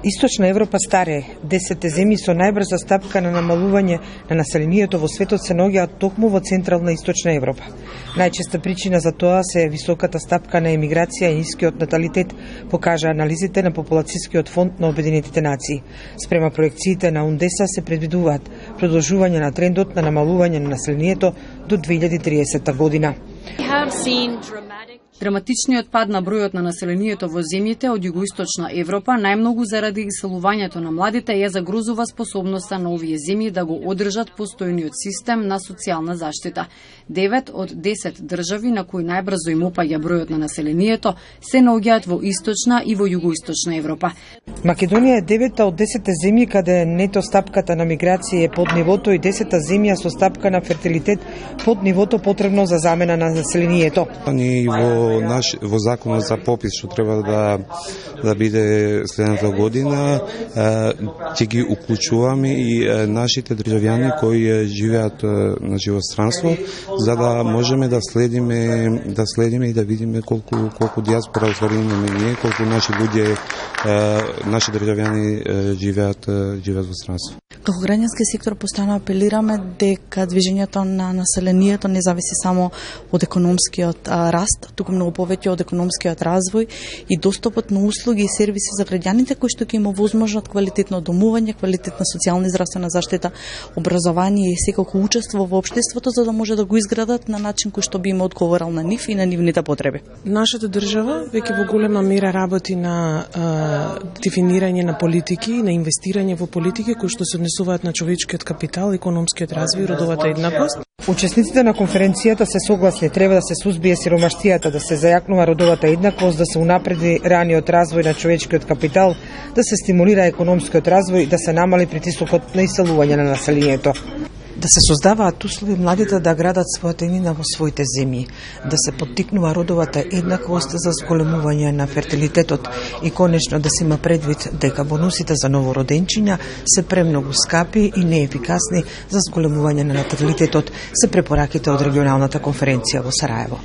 Источна Европа старе, 10 земји со најбрза стапка на намалување на населението во светот се наоѓаат токму во Централна и Источна Европа. Најчеста причина за тоа се високата стапка на емиграција и нискиот наталитет, покажа анализите на Популацијскиот фонд на Обединетите нации. Спрема проекциите на УНДЕСА се предвидуваат продолжување на трендот на намалување на населението до 2030 година. Драматичниот пад на бројот на населението во земјите од југоисточна Европа, најмногу заради иселувањето на младите, ја загрозува способноста на овие земји да го одржат постојниот систем на социјална заштита. 9 од 10 држави на кои најбрзо им опаѓа бројот на населението се наоѓаат во источна и во југоисточна Европа. Македонија е 9 од 10 земји каде нето стапката на миграција е под нивото и 10 земја со стапка на фертилитет под нивото потребно за замена на населението. Во законот за попис што треба да биде следната година, ќе ги уклучуваме и нашите државјани кои живеат во странство, за да можеме да следиме и да видиме колку диаспора имаме ние, колку наши луѓе, наши државјани живеат во странство. Како граѓански сектор постојано апелираме дека движењето на населението не зависи само од економскиот раст, туку многу повеќе од економскиот развој и достапот на услуги и сервиси за граѓаните кои што ќе има возможност квалитетно домување, квалитетна социјална и здравствена заштита, образование и секако учество во општеството, за да може да го изградат на начин кој што би им одговорал на нив и на нивните потреби. Нашата држава веќе во голема мера работи на дефинирање на политики, на инвестирање во политики кои што се однесуваат на човечкиот капитал, економскиот развој и родовата еднаквост. Учесниците на конференцијата се согласни треба да се сузбие сиромаштијата, да се зајакнува родовата еднаквост, да се унапреди раниот развој на човечкиот капитал, да се стимулира економскиот развој и да се намали притисокот на иселување на населението. Да се создаваат услови младите да градат својата иднина во своите земји, да се поттикнува родовата еднаквост за зголемување на фертилитетот и конечно да се има предвид дека бонусите за новороденчиња се премногу скапи и неефикасни за зголемување на наталитетот, се препораките од регионалната конференција во Сараево.